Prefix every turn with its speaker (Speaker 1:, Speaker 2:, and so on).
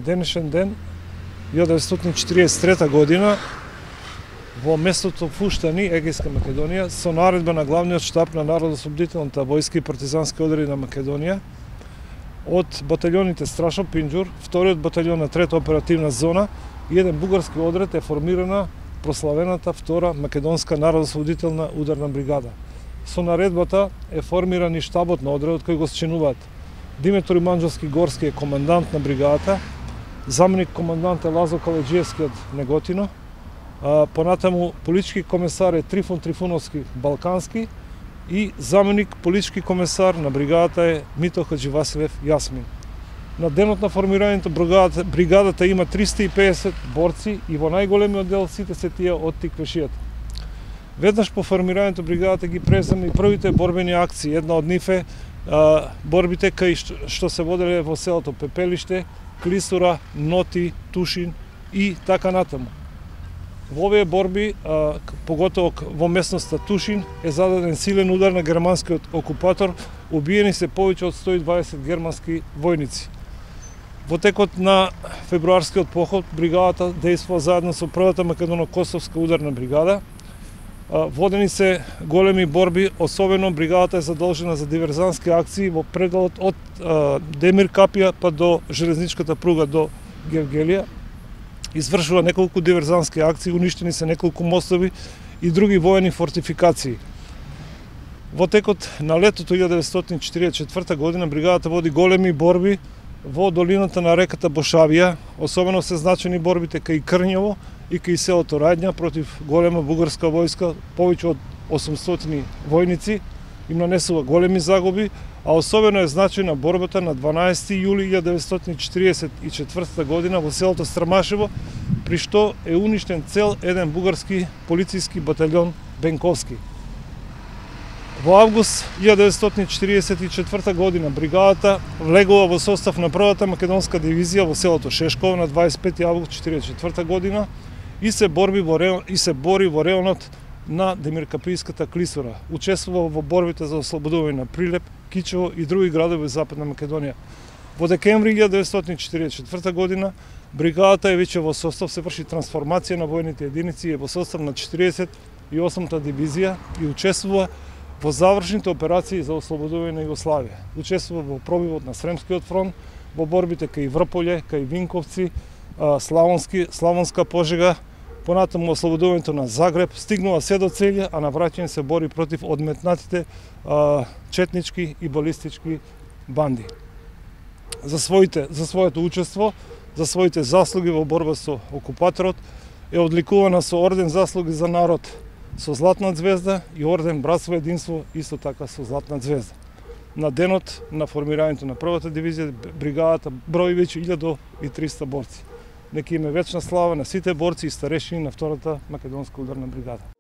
Speaker 1: денешен ден, 1943 година, во местото Фуштани, Егејска Македонија, со наредба на главниот штаб на Народно-ослободителната војска и партизански одреди на Македонија, од баталјоните Страшо Пинџур, вториот баталјон на трета оперативна зона и еден бугарски одред е формирана прославената втора македонска народно-ослободителна ударна бригада. Со наредбата е формиран и штабот на одредот кој го счинуваат Димитар Манџовски Горски е командант на бригадата, заменик командант е Лазо Калеџиевски од Неготино, понатаму политички комесар е Трифон Трифуновски Балкански и заменик политички комесар на бригадата е Мито Хаџивасилев Јасмин. На денот на формирањето бригадата има 350 борци и во најголемиот дел сите се тие од Тиквешијата. Веднаш по формирањето бригадата ги презема и првите борбени акции. Една од нив е борбите кај што се воделе во селото Пепелиште, Клисура, Ноти, Тушин и така натаму. Во овие борби, поготово во местноста Тушин, е зададен силен удар на германскиот окупатор, убиени се повеќе од 120 германски војници. Во текот на февруарскиот поход, бригадата действува заедно со првата македоно-косовска ударна бригада. Водени се големи борби, особено бригадата е задолжена за диверзантски акции во пределот од Демир Капија па до железничката пруга до Гевгелија. Извршува неколку диверзантски акции, уништени се неколку мостови и други воени фортификации. Во текот на летото 1944 година бригадата води големи борби во долината на реката Бошавија, особено се значени борбите кај Крњево и кај селото Рајдња против голема бугарска војска, повеќе од 800 војници, им нанесува големи загуби, а особено е значајна борбата на 12 јули 1944 година во селото Страмашево, при што е уништен цел еден бугарски полициски батальон Бенковски. Во август 1944 година бригадата влегува во состав на првата македонска дивизија во селото Шешково на 25 август 1944 година и се бори во реонот на Демиркапијската Клисура. Учествува во борбите за ослободување на Прилеп, Кичево и други градови во Западна Македонија. Во декември 1944 година бригадата е веќе во состав, се врши трансформација на војните единици, е во состав на 48-та дивизија и учествува во завршните операции за ослободување на Југославија. Учествува во пробивот на Сремскиот фронт, во борбите кај Врполје, кај Винковци, Славонска Пожега, понатаму ослободувањето на Загреб, стигнува се до Целје, а на враќање се бори против одметнатите четнички и балистички банди. За своето учество, за своите заслуги во борба со окупаторот е одликувана со орден заслуги за народ со златна звезда и орден Братство единство исто така со златна звезда. На денот на формирањето на првата дивизија бригадата брои веќе 1300 борци. Нека им е вечна слава на сите борци и старешини на втората македонска ударна бригада.